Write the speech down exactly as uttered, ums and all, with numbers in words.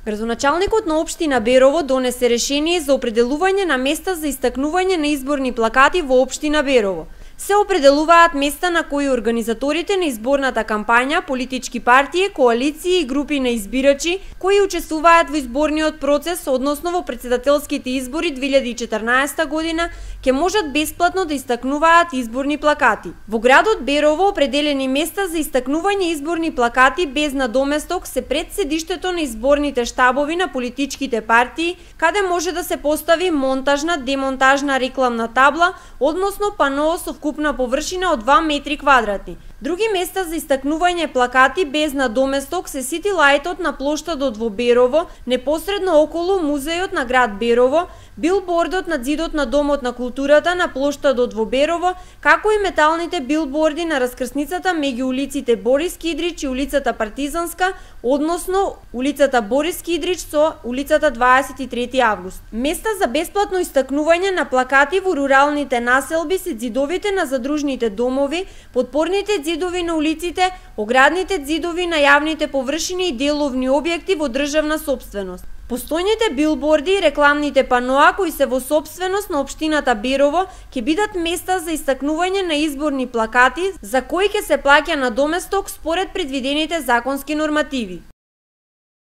Градоначалникот на општина Берово донесе решение за определување на места за истакнување на изборни плакати во општина Берово. Се определуваат места на кои организаторите на изборната кампања, политички партии, коалиции и групи на избирачи кои учествуваат во изборниот процес, односно во претседателските избори две илјади и четрнаесета година, ќе можат бесплатно да истакнуваат изборни плакати. Во градот Берово определени места за истакнување изборни плакати без надоместок се пред седиштето на изборните штабови на политичките партии, каде може да се постави монтажна, демонтажна рекламна табла, односно пано со вкупна површина од два метри квадратни. Други места за истакнување плакати без надоместок се сити лајтот на плоштадот во Берово, непосредно околу музејот на град Берово, билбордот на ѕидот на Домот на културата на плоштадот во Берово, како и металните билборди на раскрсницата меѓу улиците Борис Кидрич и улицата Партизанска, односно улицата Борис Кидрич со улицата дваесет и трети август. Места за бесплатно истакнување на плакати во руралните населби се ѕидовите на задружните домови, подпорните ѕидови на улиците, оградните ѕидови на јавните површини и деловни објекти во државна сопственост. Постојните билборди и рекламните паноа кои се во сопственост на општината Берово ќе бидат места за истакнување на изборни плакати за кои ќе се плаќа надоместок според предвидените законски нормативи.